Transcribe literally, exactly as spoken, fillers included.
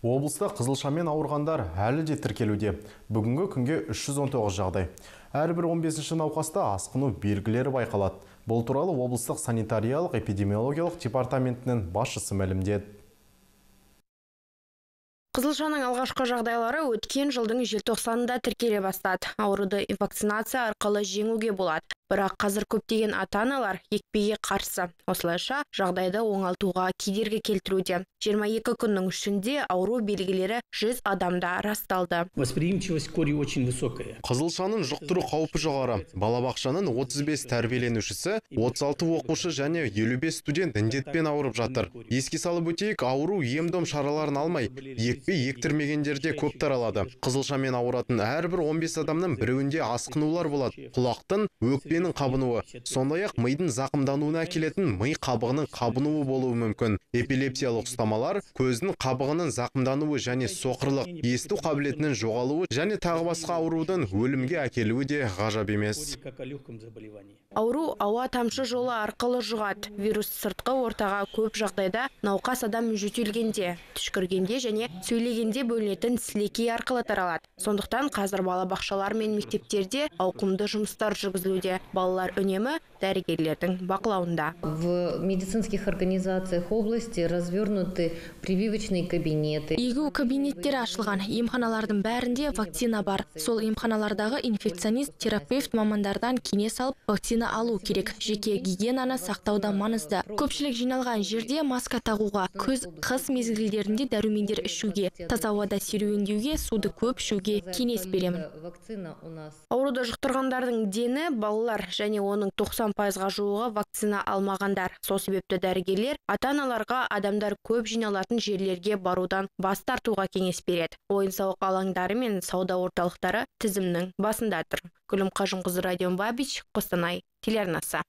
Облыста қызылшамен ауырғандар әлі де тіркелуде. Бүгінгі күнге үш жүз он тоғыз жағдай. Әрбір он бесінші науқаста асқыну белгілері байқалады. Бұл туралы облыстық санитариялық эпидемиологиялық департаментінің басшысы мәлімдеді. Қызылшаның алғашқы жағдайлары өткен жылдың желтоқсанында тіркеле бастады. Ауруды вакцинация арқылы жеңуге болады. Бірақ қазір көптеген ата-аналар екпеге қарсы. Осылайша жағдайды оңалтуға кедергі келтіруде. жиырма екі күннің ішінде ауру белгілері жүз адамда расталды. Восприимчивость кори очень высокая. Қызылшаның жұқтыру қаупі жоғары. Балабақшаның отыз бес тәрбиеленушісі, отыз алты оқушы және елу бес студент індетпен ауырып жатыр. Еске салып өтейік, ауру ем-дом шараларын алмай, екпе ектірмегендерде көп таралады. Қызылшамен ауыратын әрбір он бес адамның біреуінде асқынулар болады. Құлақтың, өкпенің қабынуы, сондай-ақ мидың зақымдануына әкелетін ми қабығының қабынуы болуы мүмкін. Эпилепсиялық ұстамалар, көздің қабығының зақымдануы және соқырлық, есту қабілетінің жоғалуы және тағы басқа аурудың өлімге әкелуі де ғажап емес. Ауру ауа тамшы жолы арқылы жұғады. Вирус сыртқы ортаға көп жағдайда науқас адам жөтелгенде, түшкіргенде және сөйлегенде бөлінетін сілекей арқылы таралады. Сондықтан қазір балабақшалар мен мектептерде ауқымды жұмыстар жүргізілуде. Балалар үнемі дәрігерлердің бақылауында. В медицинских организациях области развернуты прививочные кабинеты. Егу кабинеттері ашылған. Емханалардың бәрінде вакцина бар. Сол емханалардағы инфекционист, терапевт мамандардан кеңес алып вакцина алу керек. Жеке гигиенаны сақтауда маңызды. Көпшілік жиналған жерде маска тағуға, күз, қыс мезгілдерінде дәрумендер ішуге, таза ауада серуендеуге, суды көп ішуге кеңес беремін. Ауруды жұқтырғандардың дені балалар және оның тоқсан пайызға жуығы вакцина алмағандар. Сол себепті дәрігерлер ата-аналарға адамдар көп жиналатын жерлерге барудан бас тартуға кеңес береді. Ойын-сауық алаңдары мен сауда орталықтары тізімнің басында тұр. Гүлім Қажынқызы, Радион Бабич, Қостанай телеарнасы.